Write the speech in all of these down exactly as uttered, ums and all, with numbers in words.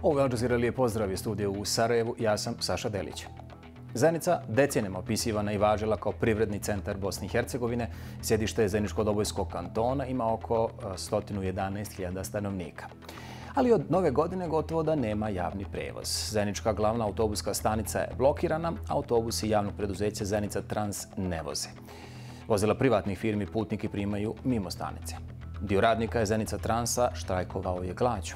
Ovo je Al Jazeera, lijep pozdrav iz studija u Sarajevu. Ja sam Saša Delić. Zenica decenijama opisivana i važila kao privredni centar Bosne i Hercegovine. Sjedište Zeničko-Dobojskog kantona ima oko sto jedanaest hiljada stanovnika. Ali od nove godine gotovo da nema javni prevoz. Zenička glavna autobuska stanica je blokirana, autobusi javnog preduzeća Zenica Trans ne voze. Vozila privatnih firmi putniki primaju mimo stanice. Dio radnika je Zenica Transa štrajkovao je glađu.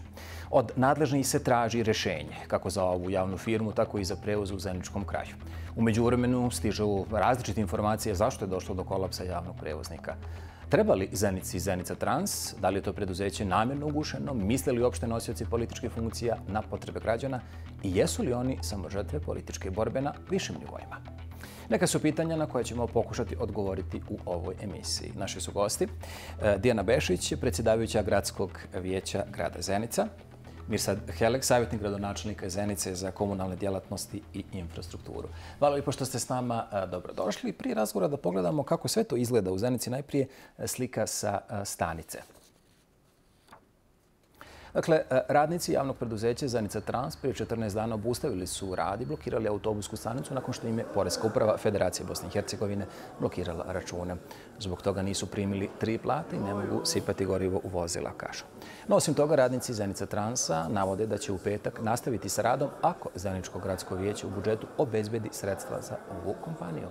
Od nadležnih se traži rješenje, kako za ovu javnu firmu, tako i za prevoz u zeničkom kraju. U međuvremenu stižu različite informacije zašto je došlo do kolapsa javnog prevoznika. Treba li Zenici Zenica Trans? Da li je to preduzeće namjerno ugušeno? Misle li uopšte nosioci političkih funkcija na potrebe građana? I jesu li oni samo žrtve političke borbe na višim nivoima? Neka su pitanja na koje ćemo pokušati odgovoriti u ovoj emisiji. Naši su gosti Dijana Bešić, predsjedavajuća Gradskog vijeća grada Zenica, Mirsad Helek, savjetnik gradonačelnika Zenice za komunalne djelatnosti i infrastrukturu. Hvala lijepo što ste s nama, dobrodošli. Prije razgovora da pogledamo kako sve to izgleda u Zenici. Najprije slika sa stanice. Dakle, radnici javnog preduzeća Zenica Trans prije četrnaest dana obustavili su rad i blokirali autobusku stanicu nakon što im je Poreska uprava Federacije Bosne i Hercegovine blokirala račune. Zbog toga nisu primili tri plate i ne mogu sipati gorivo u vozila, kažu. No, osim toga, radnici Zenica Transa navode da će u petak nastaviti sa radom ako Zeničko gradsko vijeće u budžetu obezbedi sredstva za ovu kompaniju.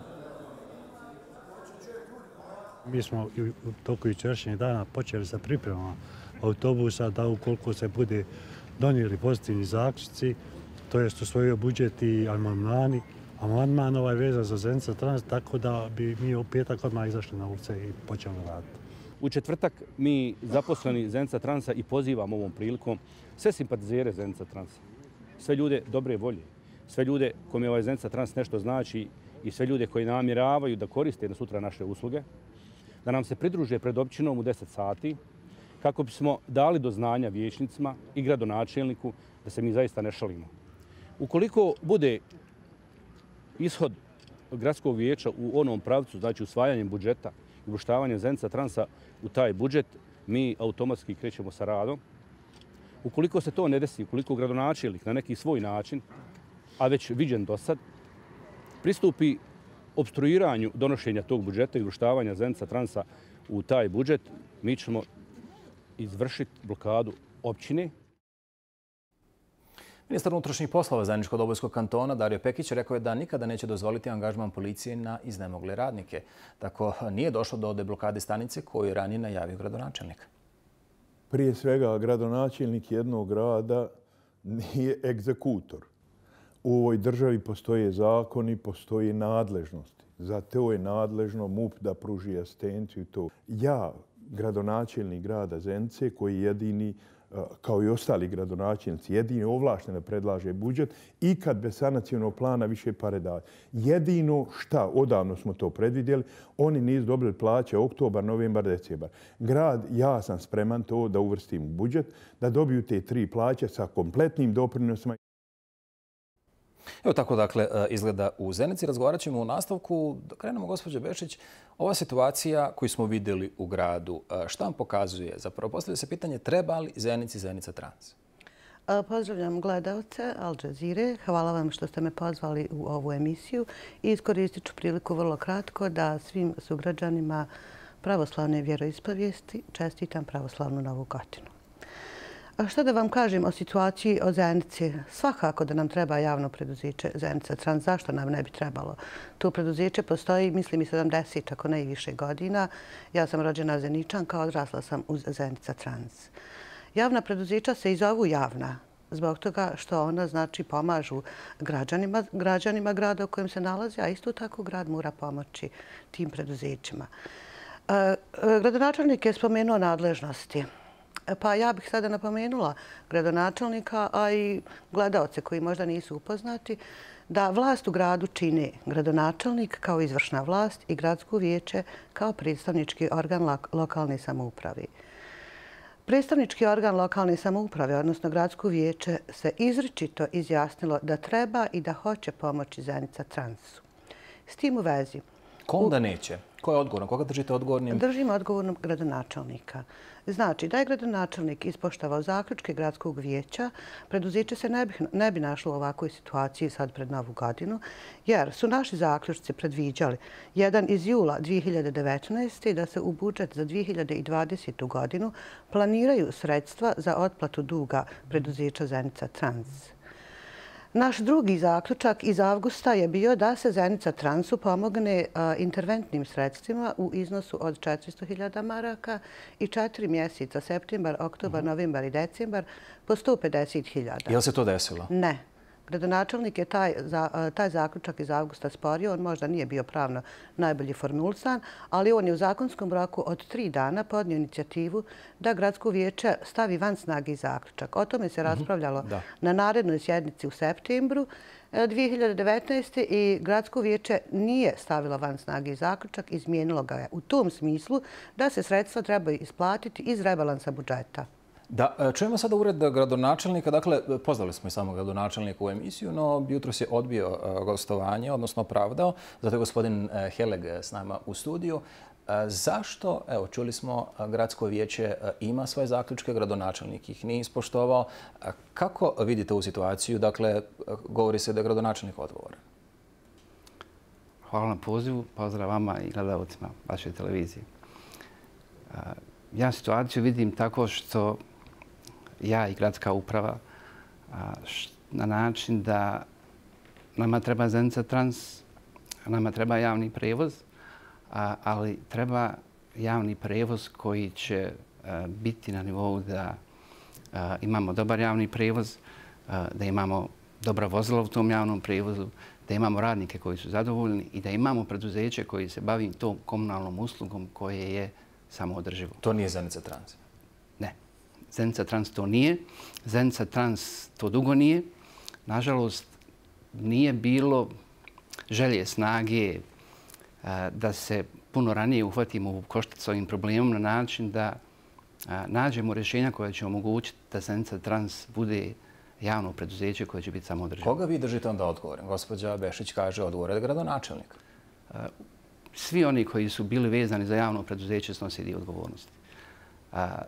Mi smo u toku jučerašnjeg dana počeli sa pripremama autobusa da ukoliko se bude donijeli pozitivni zaključci, to jest usvojio budžet i amandmani, amandman ovaj vezan za Zenica Trans, tako da bi mi u petak odmah izašli na ulice i počeli raditi. U četvrtak mi zaposleni Zenica Transa i pozivamo ovom prilikom sve simpatizere Zenica Transa, sve ljude dobre volje, sve ljude kojima ovaj Zenica Trans nešto znači i sve ljude koji namjeravaju da koriste na sutra naše usluge, da nam se pridruže pred općinom u deset sati kako bismo dali do znanja vijećnicima i gradonačelniku da se mi zaista ne šalimo. Ukoliko bude ishod gradskog vijeća u onom pravcu, znači usvajanjem budžeta i uvrštavanjem Zenica Transa u taj budžet, mi automatski krećemo sa radom. Ukoliko se to ne desi, ukoliko gradonačelnik na neki svoj način, a već viđen do sad, pristupi opstruiranju donošenja tog budžeta i uvrštavanja Zenica Transa u taj budžet, mi ćemo izvršiti blokadu općine. Ministar unutrašnjih poslova Zeničko-Dobojskog kantona Dario Pekić rekao je da nikada neće dozvoliti angažman policije na iznemogle radnike. Tako nije došlo do deblokade stanice koju je ranije najavio gradonačelnik. Prije svega, gradonačelnik jednog grada nije egzekutor. U ovoj državi postoje zakoni, postoji nadležnosti. Za to je nadležno M U P da pruži asistenciju i to. Ja, gradonačelnik grada Zenice, koji jedini, kao i ostali gradonačelnici, jedini ovlašten da predlaže budžet i kad bez sanacionog plana više pare daje. Jedino šta, odavno smo to predvidjeli, oni nisu dobili plaće oktobar, novembar, decembar. Grad, ja sam spreman to da uvrstim u budžet, da dobiju te tri plaće sa kompletnim doprinosima. Evo tako dakle izgleda u Zenici. Razgovarat ćemo u nastavku. Da krenemo, gospođo Bešić, ova situacija koju smo vidjeli u gradu, šta vam pokazuje? Zapravo postavlja se pitanje treba li Zenici Zenica Trans? Pozdravljam gledalce Al Jazeere. Hvala vam što ste me pozvali u ovu emisiju. I iskoristit ću priliku vrlo kratko da svim sugrađanima pravoslavne vjeroispovijesti čestitam pravoslavnu Novu godinu. A što da vam kažem o situaciji o Zenici? Svakako da nam treba javno preduzeće Zenica Trans. Zašto nam ne bi trebalo? To preduzeće postoji, mislim, i sedamdeset, ako ne i više godina. Ja sam rođena Zeničanka, odrasla sam uz Zenica Trans. Javna preduzeća se i zovu javna zbog toga što ona, znači, pomažu građanima, građanima grada u kojem se nalazi, a isto tako grad mora pomoći tim preduzećima. Gradonačelnik je spomenuo nadležnosti. Pa ja bih sada napomenula gradonačelnika, a i gledaoce koji možda nisu upoznati, da vlast u gradu čine gradonačelnik kao izvršna vlast i gradsko vijeće kao predstavnički organ lokalne samouprave. Predstavnički organ lokalne samouprave, odnosno gradsko vijeće, se izričito izjasnilo da treba i da hoće pomoći Zenica Transu. S tim u vezi... Kom da neće? Ko je odgovoran? Koga držite odgovornim? Držimo odgovornog gradonačelnika. Znači, da je gradonačelnik ispoštavao zaključke gradskog vijeća, preduzeće se ne bi, ne bi našlo u ovakvoj situaciji sad pred novu godinu, jer su naši zaključci predviđali jedan iz jula dvije hiljade devetnaeste. da se u budžet za dvije hiljade dvadesetu. godinu planiraju sredstva za otplatu duga preduzeća Zenica Trans. Naš drugi zaključak iz avgusta je bio da se Zenica Transu pomogne interventnim sredstvima u iznosu od četiristo hiljada maraka i četiri mjeseca, septembar, oktobar, novembar i decembar, po sto pedeset hiljada. Je li se to desilo? Ne. Gradonačelnik je taj, za, taj zaključak iz avgusta sporio. On možda nije bio pravno najbolje formulisan, ali on je u zakonskom roku od tri dana podnio inicijativu da gradsko vijeće stavi van snage zaključak. O tome se raspravljalo Da. na narednoj sjednici u septembru dvije hiljade devetnaeste. i gradsko vijeće nije stavilo van snage zaključak, izmijenilo ga je u tom smislu da se sredstva trebaju isplatiti iz rebalansa budžeta. Da, čujemo sada ured gradonačelnika. Dakle, pozvali smo i samog gradonačelnika u emisiju, no jutros je odbio gostovanje, odnosno opravdao. Zato je gospodin Heleg s nama u studiju. Zašto, evo, čuli smo, gradsko vijeće ima svoje zaključke, gradonačelnik ih nije ispoštovao. Kako vidite ovu situaciju? Dakle, govori se da je gradonačelnik odgovoran. Hvala na pozivu. Pozdrav vama i gledalcima vaše televizije. Ja situaciju vidim tako što ja i gradska uprava na način da nama treba Zenica Trans, nama treba javni prevoz, ali treba javni prevoz koji će biti na nivou da imamo dobar javni prevoz, da imamo dobra vozila u tom javnom prevozu, da imamo radnike koji su zadovoljni i da imamo preduzeće koji se bavi tom komunalnom uslugom koje je samoodrživo. To nije Zenica Trans? Ne. Zenica Trans to nije. Zenica Trans to dugo nije. Nažalost, nije bilo želje, snage da se puno ranije uhvatimo u koštac s ovim problemom na način da nađemo rješenja koja će omogućiti da Zenica Trans bude javno preduzeće koje će biti samoodrživo. Koga vi držite onda odgovoran? Gospođa Bešić kaže odgovoran je gradonačelnik. Svi oni koji su bili vezani za javno preduzeće snose dio odgovornosti.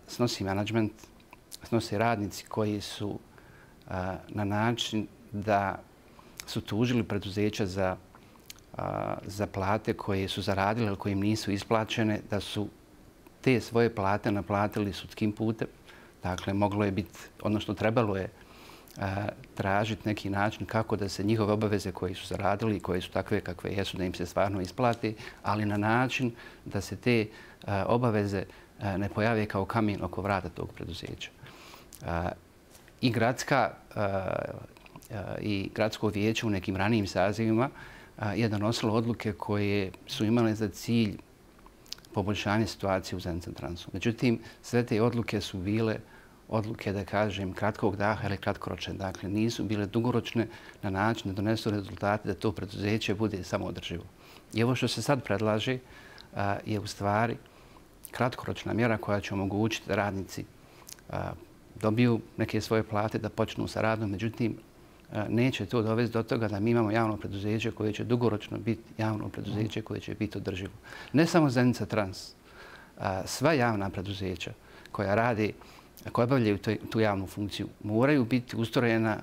Snosi menadžment, snose radnici koji su na način da su tužili preduzeća za, za plate koje su zaradili ili koje im nisu isplaćene, da su te svoje plate naplatili sudskim putem. Dakle, moglo je biti, odnosno trebalo je tražiti neki način kako da se njihove obaveze koje su zaradili i koje su takve kakve jesu da im se stvarno isplati, ali na način da se te obaveze ne pojave kao kamen oko vrata tog preduzeća. I gradska i gradsko vijeće u nekim ranijim sazivima je donosilo odluke koje su imale za cilj poboljšanje situacije u Zenica Transu. Međutim, sve te odluke su bile odluke, da kažem, kratkog daha ili kratkoročne. Dakle, nisu bile dugoročne na način da donesu rezultate da to preduzeće bude samoodrživo. I ovo što se sad predlaže je u stvari kratkoročna mjera koja će omogućiti da radnici dobiju neke svoje plate, da počnu sa radom. Međutim, neće to dovesti do toga da mi imamo javno preduzeće koje će dugoročno biti javno preduzeće koje će biti održivo. Ne samo Zenica Trans, sva javna preduzeća koja radi, koja obavljaju tu javnu funkciju, moraju biti ustrojena,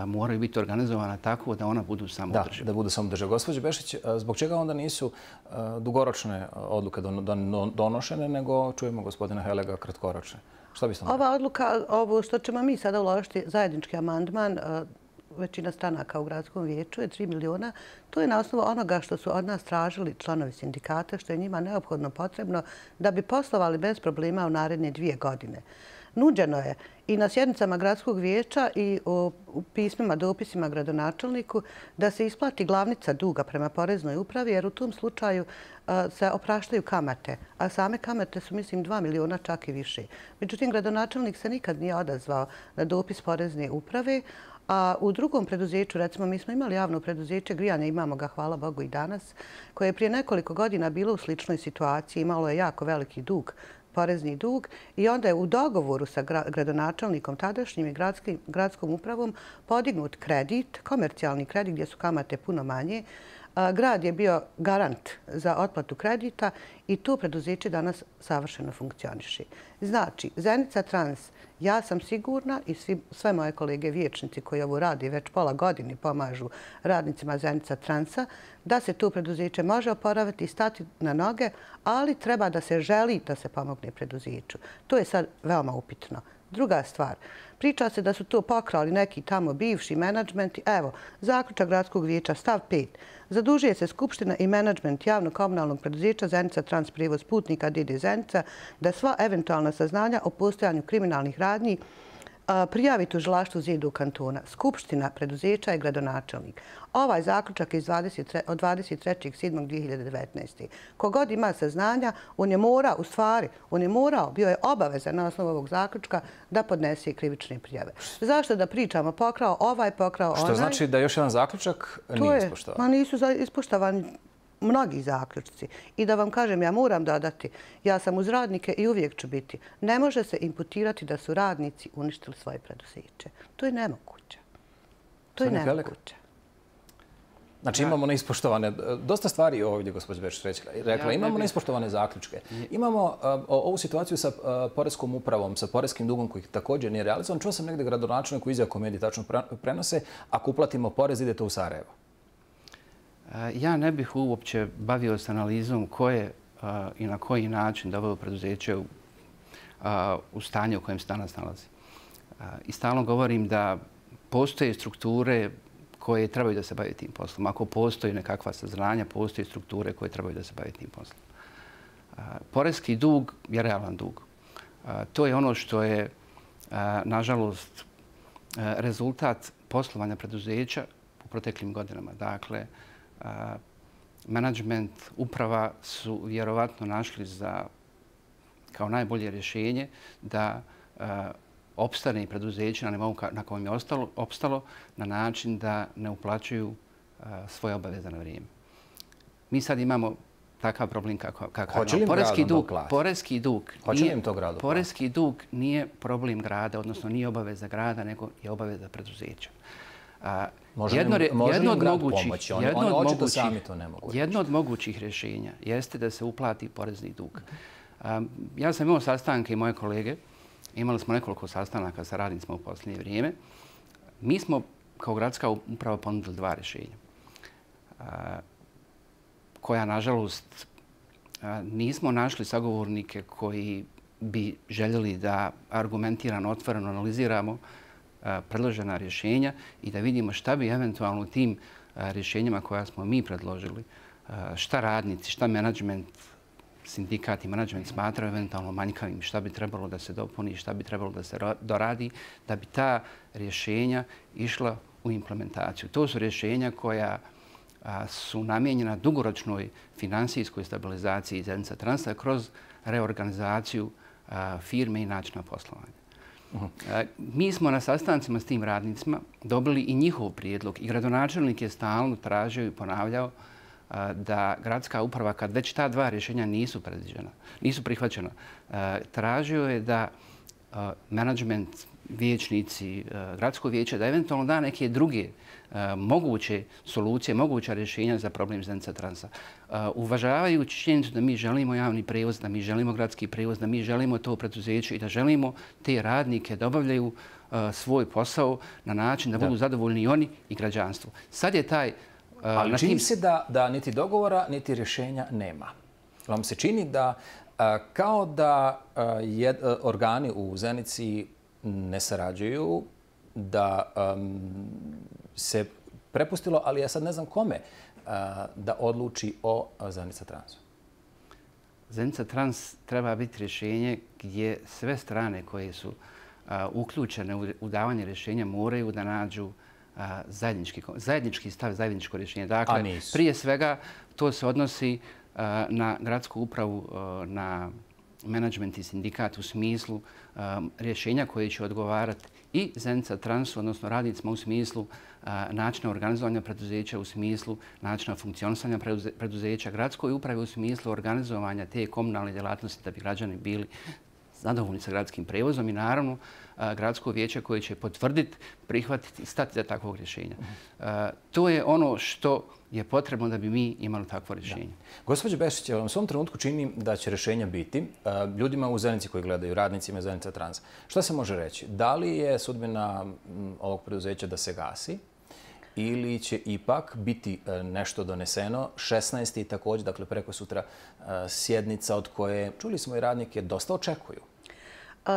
moraju biti organizovana tako da ona budu samoodrživa. Da, da budu samoodrživa. Gospođo Bešić, zbog čega onda nisu dugoročne odluke donošene, nego čujemo gospodina Helega kratkoročne? Šta biste onda? Ova odluka, ovo što ćemo mi sada uložiti zajednički amandman, većina stranaka u gradskom vijeću je tri miliona. To je na osnovu onoga što su od nas tražili članovi sindikata, što je njima neophodno potrebno da bi poslovali bez problema u naredne dvije godine. Nuđeno je i na sjednicama gradskog vijeća i u pismima, dopisima gradonačelniku da se isplati glavnica duga prema poreznoj upravi, jer u tom slučaju se opraštaju kamate, a same kamate su, mislim, dva miliona čak i više. Međutim, gradonačelnik se nikad nije odazvao na dopis porezne uprave, a u drugom preduzeću, recimo, mi smo imali javno preduzeće grijanja, imamo ga, hvala Bogu, i danas, koje je prije nekoliko godina bilo u sličnoj situaciji, imalo je jako veliki dug, porezni dug, i onda je u dogovoru sa gradonačelnikom tadašnjim i gradskom upravom podignut kredit, komercijalni kredit gdje su kamate puno manje, Grad je bio garant za otplatu kredita i to preduzeće danas savršeno funkcioniše. Znači, Zenica Trans, ja sam sigurna i svi, sve moje kolege vječnici koji ovo radi već pola godine pomažu radnicima Zenica Transa, da se to preduzeće može oporaviti i stati na noge, ali treba da se želi da se pomogne preduzeću. To je sad veoma upitno. Druga stvar, priča se da su to pokrali neki tamo bivši menadžmenti. Evo, zaključak gradskog vijeća, stav pet. Zadužuje se Skupština i menadžment javno-komunalnog preduzeća Zenica Trans prijevoz putnika D D Zenica da sva eventualna saznanja o postojanju kriminalnih radnji prijavi tužilaštvu Zidu kantona. Skupština preduzeća je gradonačelnik. Ovaj zaključak je od dvadeset trećeg sedmog dvije hiljade devetnaeste. Kogod ima saznanja, on je mora, u stvari, on je morao, bio je obavezan na osnovu ovog zaključka da podnese krivične prijave. Zašto da pričamo pokrao ovaj, pokrao onaj? Što znači da još jedan zaključak nije ispoštovan? Ma nisu ispoštovani mnogi zaključci. I da vam kažem, ja moram dodati, ja sam uz radnike i uvijek ću biti. Ne može se imputirati da su radnici uništili svoje preduzeće. To je nemoguće. To je nemoguće. Znači imamo neispoštovane, dosta stvari ovdje, gospođa Bečić rekla, imamo neispoštovane zaključke. Imamo ovu situaciju sa poreskom upravom, sa poreskim dugom koji također nije realizovan. Čuo sam negdje gradonačelniku izjava koji mediji tačno prenose, ako uplatimo porez idete u Sarajevo. Ja ne bih uopće bavio s analizom ko je i na koji način doveo preduzeće u stanje u kojem se danas nalazi. I stalno govorim da postoje strukture koje trebaju da se bave tim poslom. Ako postoji nekakva saznanja, postoje strukture koje trebaju da se bave tim poslom. Poreski dug je realan dug. To je ono što je, nažalost, rezultat poslovanja preduzeća u proteklim godinama. Dakle, menadžment, uprava su vjerovatno našli za kao najbolje rješenje da opstane preduzeće na nivou na kojem je opstalo na način da ne uplaćuju svoje obaveze na vrijeme. Mi sad imamo takav problem kakav imamo. Poreski dug, poreski dug, Hoće li im to gradu poreski dug nije problem grada, odnosno nije obaveza grada, nego je obaveza preduzeća. Jedno od mogućih rješenja jeste da se uplati porezni dug. Ja sam imao sastanke i moje kolege, imali smo nekoliko sastanaka sa radnicima u posljednje vrijeme. Mi smo kao gradska uprava ponudili dva rješenja koja, nažalost, nismo našli sagovornike koji bi željeli da argumentirano, otvoreno analiziramo predložena rješenja i da vidimo šta bi eventualno u tim rješenjima koja smo mi predložili, šta radnici, šta menadžment, sindikat i menadžment smatraju eventualno manjkavim, šta bi trebalo da se dopuni, šta bi trebalo da se doradi, da bi ta rješenja išla u implementaciju. To su rješenja koja su namijenjena dugoročnoj finansijskoj stabilizaciji Zenica Transa kroz reorganizaciju firme i načina poslovanja. Mi smo na sastancima s tim radnicima dobili i njihov prijedlog i gradonačelnik je stalno tražio i ponavljao da gradska uprava, kad već ta dva rješenja nisu predviđena, nisu prihvaćena, tražio je da menadžment, vijećnici, gradsko vijeće, da eventualno da neke druge moguće solucije, moguća rješenja za problem Zenica Transa. Uvažavajući činjenicu da mi želimo javni prijevoz, da mi želimo gradski prijevoz, da mi želimo to preduzeće i da želimo te radnike da obavljaju svoj posao na način da budu zadovoljni i oni i građanstvo. Sad je taj... Ali čini se da niti dogovora, niti rješenja nema. Vam se čini da kao da organi u Zenici ne sarađuju, da se prepustilo, ali ja sad ne znam kome, da odluči o Zenica Transu. Zenica Trans treba biti rješenje gdje sve strane koje su uključene u davanje rješenja moraju da nađu zajednički stav, zajedničko rješenje. Dakle, prije svega to se odnosi na gradsku upravu, na menadžment i sindikat u smislu rješenja koje će odgovarati i Zenica Transu, odnosno radnicima u smislu načina organizovanja preduzeća, u smislu načina funkcionisanja preduzeća, gradskoj upravi u smislu organizovanja te komunalne djelatnosti da bi građani bili zadovoljni sa gradskim prevozom i naravno gradsko vijeće koje će potvrditi, prihvatiti i stati za takvog rješenja. To je ono što je potrebno da bi mi imali takvo rješenje. Gospođo Bešić, u svom trenutku čini da će rješenja biti ljudima u Zenici koji gledaju, radnicima Zenica Trans. Šta se može reći? Da li je sudbina ovog preduzeća da se gasi ili će ipak biti nešto doneseno? šesnaesti također, dakle preko sutra sjednica od koje, čuli smo i radnike, dosta očekuju.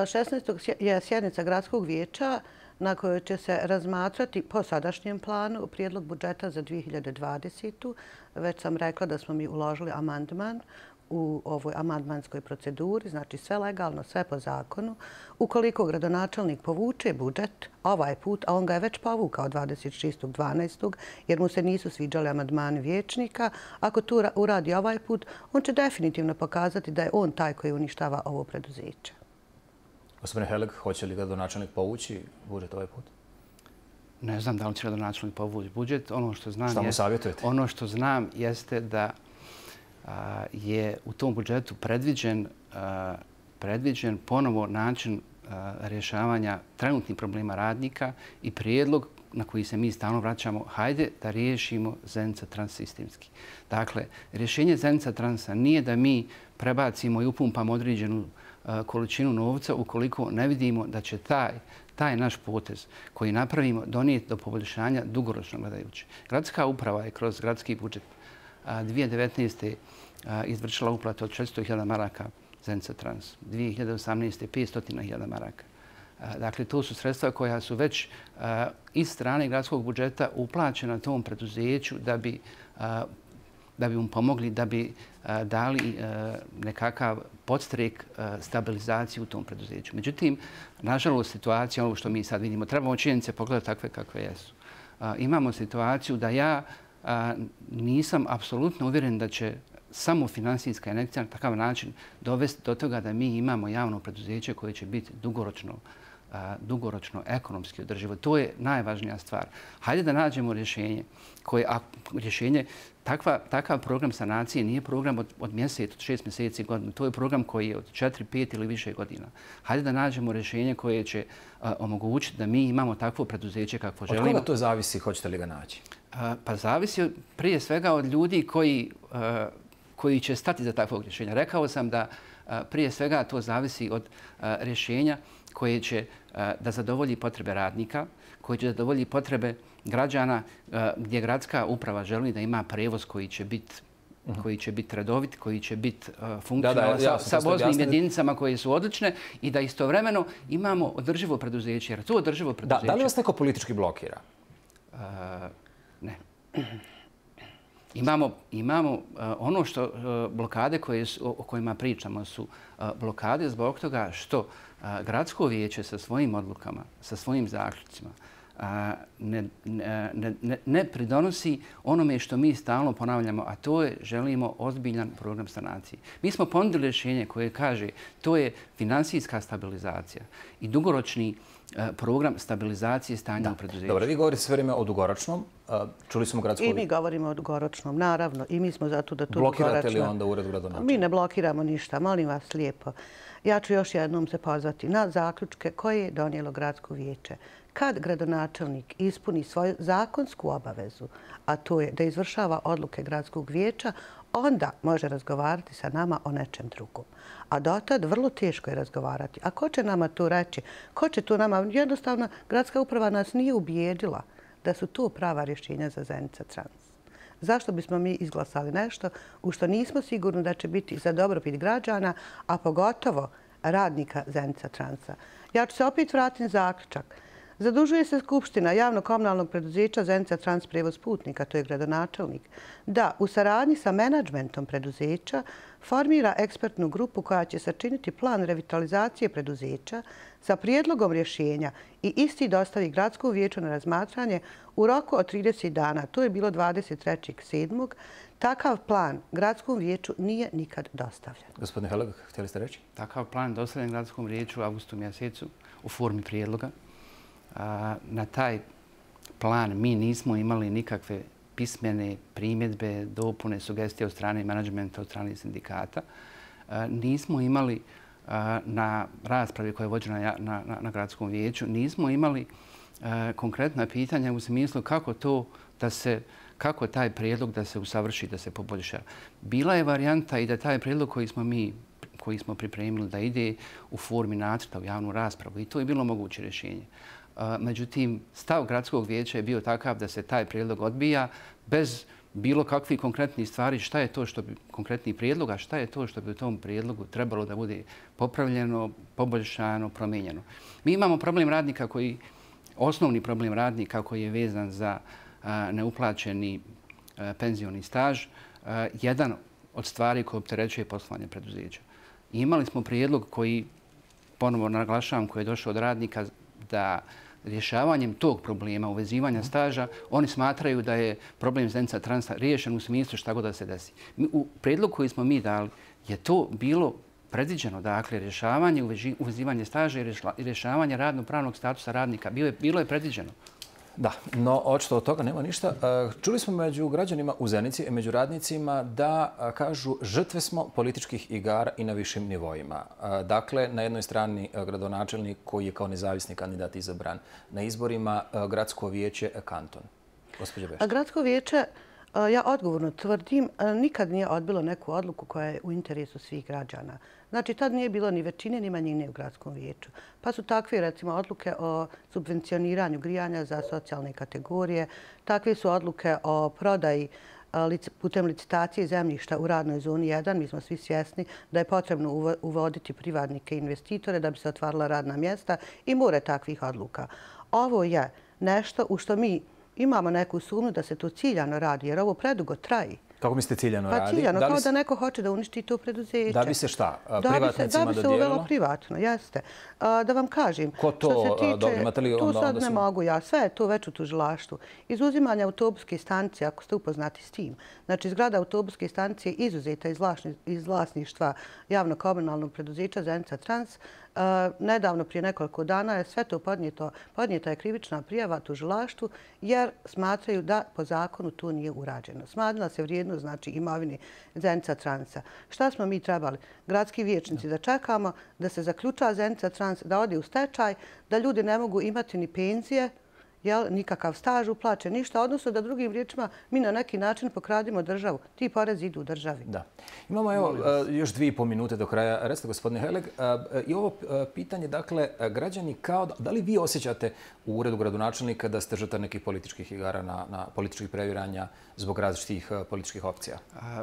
šesnaestog je sjednica gradskog vijeća na kojoj će se razmatrati po sadašnjem planu prijedlog budžeta za dvije hiljade dvadesetu. Već sam rekla da smo mi uložili amandman u ovoj amandmanskoj proceduri, znači sve legalno, sve po zakonu. Ukoliko gradonačelnik povuče budžet ovaj put, a on ga je već povukao dvadeset šestog dvanaestog jer mu se nisu sviđali amandmani vijećnika, ako to uradi ovaj put, on će definitivno pokazati da je on taj koji uništava ovo preduzeće. Gospodine Heleg, hoće li gradonačelnik povući budžet ovaj put? Ne znam da li će gradonačelnik povući budžet. Ono što znam Šta mu jest, savjetujete? Ono što znam jeste da a, je u tom budžetu predviđen, a, predviđen ponovo način a, rješavanja trenutnih problema radnika i prijedlog na koji se mi stalno vraćamo, hajde da riješimo Zenica Trans sistemski. Dakle, rješenje Zenica Transa nije da mi prebacimo i upumpamo određenu količinu novca ukoliko ne vidimo da će taj, taj naš potez koji napravimo donijeti do poboljšanja dugoročno gledajući. Gradska uprava je kroz gradski budžet dvije hiljade devetnaeste. izvršila uplatu od četiristo hiljada maraka Zenica Trans, dvije hiljade osamnaeste. petsto hiljada maraka. Dakle, to su sredstva koja su već iz strane gradskog budžeta uplaćena tom preduzeću da bi da bi mu pomogli, da bi dali nekakav podstrek stabilizaciju u tom preduzeću. Međutim, nažalost, situacija, ono što mi sad vidimo, trebamo činjenice pogledati takve kakve jesu. Imamo situaciju da ja nisam apsolutno uvjeren da će samo finansijska injekcija na takav način dovesti do toga da mi imamo javno preduzeće koje će biti dugoročno dugoročno ekonomski održivo. To je najvažnija stvar. Hajde da nađemo rješenje koje, a rješenje, takva, takav program sanacije nije program od, od mjesec, od šest mjeseci godina. To je program koji je od četiri, pet ili više godina. Hajde da nađemo rješenje koje će a, omogućiti da mi imamo takvo preduzeće kakvo želimo. Od koga to zavisi? Hoćete li ga naći? A, pa zavisi prije svega od ljudi koji, a, koji će stati za takvog rješenja. Rekao sam da a, prije svega to zavisi od a, rješenja koje će da zadovolji potrebe radnika, koje će zadovolji potrebe građana gdje gradska uprava želi da ima prevoz koji će biti koji će biti redovit, koji će biti funkcionalan sa, sa voznim jedinicama koje su odlične i da istovremeno imamo održivo preduzeće. Jer to održivo preduzeće... Da, da li vas neko politički blokira? Uh, ne. Imamo, imamo uh, ono što uh, blokade koje su, o kojima pričamo su uh, blokade zbog toga što uh, gradsko vijeće sa svojim odlukama, sa svojim zaključcima uh, ne, ne, ne, ne pridonosi onome što mi stalno ponavljamo, a to je želimo ozbiljan program sanacije. Mi smo ponudili rješenje koje kaže to je finansijska stabilizacija i dugoročni program stabilizacije stanja u preduzeću. Dobro, vi govorite sve vrijeme o dugoročnom. Čuli smo gradsko... I mi govorimo o dugoročnom, naravno. I mi smo zato da to dugoročno... Blokirate li onda ured gradonačelnika? Mi ne blokiramo ništa, molim vas lijepo. Ja ću još jednom se pozvati na zaključke koje je donijelo gradsko vijeće. Kad gradonačelnik ispuni svoju zakonsku obavezu, a to je da izvršava odluke gradskog vijeća, onda može razgovarati sa nama o nečem drugom. A dotad vrlo teško je razgovarati. A ko će nama to reći? Ko će to nama... Jednostavno, gradska uprava nas nije ubijedila da su to prava rješenja za Zenica Trans. Zašto bismo mi izglasali nešto u što nismo sigurni da će biti za dobrobit građana, a pogotovo radnika Zenica Transa? Ja ću se opet vratiti na zaključak. Zadužuje se Skupština javno-komunalnog preduzeća Zenica Trans prijevoz putnika, to je gradonačelnik, da u saradnji sa menadžmentom preduzeća formira ekspertnu grupu koja će sačiniti plan revitalizacije preduzeća sa prijedlogom rješenja i isti dostavi gradskom vijeću na razmatranje u roku od trideset dana. To je bilo dvadeset trećeg sedmog Takav plan gradskom vijeću nije nikad dostavljen. Gospodine Heleg, htjeli ste reći? Takav plan dostavljen gradskom vijeću u avgustu mjesecu u formi prijedloga. Na taj plan mi nismo imali nikakve pismene primjedbe, dopune, sugestije od strane menadžmenta, od strane sindikata. Nismo imali na raspravi koja je vođena na, na, na gradskom vijeću, nismo imali konkretna pitanja u smislu kako to da se kako taj prijedlog da se usavrši, da se poboljša. Bila je varijanta i da taj prijedlog koji smo mi koji smo pripremili da ide u formi nacrta u javnu raspravu i to je bilo moguće rješenje. Međutim, stav gradskog vijeća je bio takav da se taj prijedlog odbija bez bilo kakvih konkretnih stvari, šta je to što bi konkretnih prijedloga, šta je to što bi u tom prijedlogu trebalo da bude popravljeno, poboljšano, promijenjeno. Mi imamo problem radnika koji, osnovni problem radnika koji je vezan za neuplaćeni penzioni staž, jedan od stvari koje opterećuje poslovanje preduzeća. Imali smo prijedlog koji, ponovo naglašavam, koji je došao od radnika da rješavanjem tog problema uvezivanja staža, oni smatraju da je problem Zenica Transa riješen u smislu šta god da se desi. U prijedlogu koji smo mi dali je to bilo predviđeno, dakle, rješavanje uvezivanje staža i rješavanje radno-pravnog statusa radnika. Bilo je predviđeno. Da, no očito od toga nema ništa. Čuli smo među građanima u Zenici i među radnicima da kažu žrtve smo političkih igara i na višim nivoima. Dakle, na jednoj strani gradonačelnik koji je kao nezavisni kandidat izabran na izborima, gradsko vijeće kanton. Gospođa Bešić. Gradsko vijeće, ja odgovorno tvrdim, nikad nije odbilo neku odluku koja je u interesu svih građana. Znači, tad nije bilo ni većine ni manjine u gradskom vijeću. Pa su takve, recimo, odluke o subvencioniranju grijanja za socijalne kategorije. Takve su odluke o prodaji putem licitacije zemljišta u radnoj zoni jedan. Mi smo svi svjesni da je potrebno uvoditi privatnike i investitore da bi se otvarala radna mjesta i more takvih odluka. Ovo je nešto u što mi imamo neku sumnju da se to ciljano radi, jer ovo predugo traji. Kako mislite ciljano radi? Pa ciljano, kao da neko hoće da uništi to preduzeće. Da bi se šta? Privatnicima dodijelilo? Da bi se uvelo privatno, jeste. Da vam kažem. Ko to dobro? Imate li onda? Tu sad ne mogu ja. Sve je to već u tužilaštvu. Izuzimanje autobuske stanice, ako ste upoznati s tim. Znači, zgrada autobuske stanice je izuzeta iz vlasništva javno-komunalnog preduzeća Zenica Trans. Nedavno, prije nekoliko dana, je sve to podnijeto. Podnijeta je krivična prijava tužilaštvu jer smatraju da po zakonu to nije urađeno. Smanjila se vrijednost, znači, imovine Zenica Transa. Šta smo mi trebali? Gradski vijećnici da čekamo da se zaključa Zenica Trans, da ode u stečaj, da ljudi ne mogu imati ni penzije, nikakav staž uplaćen, ništa, odnosno da drugim riječima mi na neki način pokradimo državu. Ti porezi idu u državi. Da. Imamo evo još dvije i pol minute do kraja. Recite, gospodine Heleg, i ovo pitanje, dakle, građani kao da li vi osjećate u uredu gradonačelnika da ste žrtva nekih političkih igara na političkih previranja zbog različitih političkih opcija?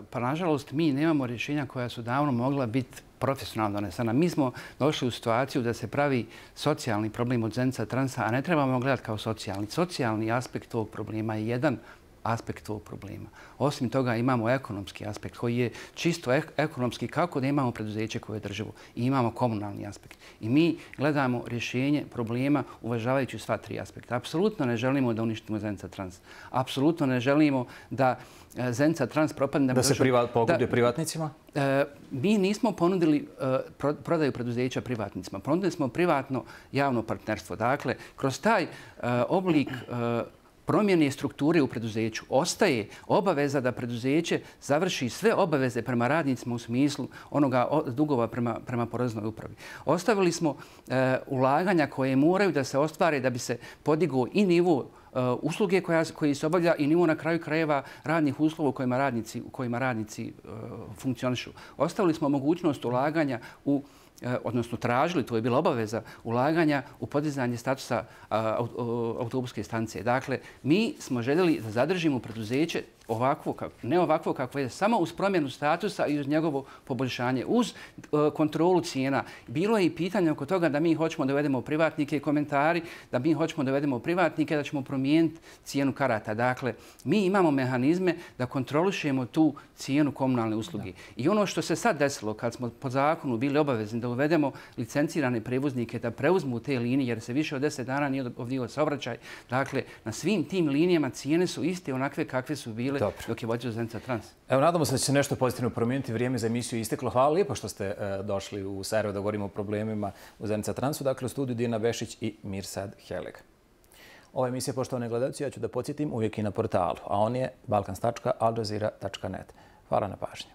Pa, nažalost, mi nemamo rješenja koja su davno mogla biti profesionalno donesena. Mi smo došli u situaciju da se pravi socijalni problem od Zenica Transa, a ne trebamo gledati kao socijalni. Socijalni aspekt tog problema je jedan aspekt tog problema. Osim toga imamo ekonomski aspekt koji je čisto ekonomski kako da imamo preduzeće koje je drživo i imamo komunalni aspekt. I mi gledamo rješenje problema uvažavajući sva tri aspekta. Apsolutno ne želimo da uništimo Zenica Trans. Apsolutno ne želimo da Zenica Trans propadne. Da se pogodi privatnicima? Mi nismo ponudili prodaju preduzeća privatnicima. Ponudili smo privatno javno partnerstvo. Dakle, kroz taj oblik promjene strukture u preduzeću ostaje obaveza da preduzeće završi sve obaveze prema radnicima u smislu onoga dugova prema, prema poreznoj upravi. Ostavili smo e, ulaganja koje moraju da se ostvare da bi se podigao i nivo e, usluge koja, koji se obavlja i nivo na kraju krajeva radnih uslova u kojima radnici, u kojima radnici e, funkcionišu. Ostavili smo mogućnost ulaganja u odnosno tražili, to je bila obaveza, ulaganja u podizanje statusa autobuske stanice. Dakle, mi smo željeli da zadržimo preduzeće ovakvo, ne ovakvo kako je, samo uz promjenu statusa i uz njegovo poboljšanje, uz kontrolu cijena. Bilo je i pitanje oko toga da mi hoćemo da uvedemo privatnike, komentari da mi hoćemo da uvedemo privatnike, da ćemo promijeniti cijenu karata. Dakle, mi imamo mehanizme da kontrolišemo tu cijenu komunalne usluge. I ono što se sad desilo, kad smo po zakonu bili obavezni da uvedemo licencirane prevoznike da preuzmu te linije, jer se više od deset dana nije odvijao saobraćaj. Dakle, na svim tim linijama cijene su iste onakve kakve su bile dok je vodio Zenica Trans. Evo, nadamo se da će se nešto pozitivno promijeniti. Vrijeme za emisiju je isteklo. Hvala lijepo što ste došli u Sarajevo da govorimo o problemima u Zenica Transu. Dakle, u studiju Dijana Bešić i Mirsad Heleg. Ova emisija, poštovane gledalci, ja ću da podsjetim uvijek i na portalu, a on je balkans tačka al jazeera tačka net. Hvala na pažnji.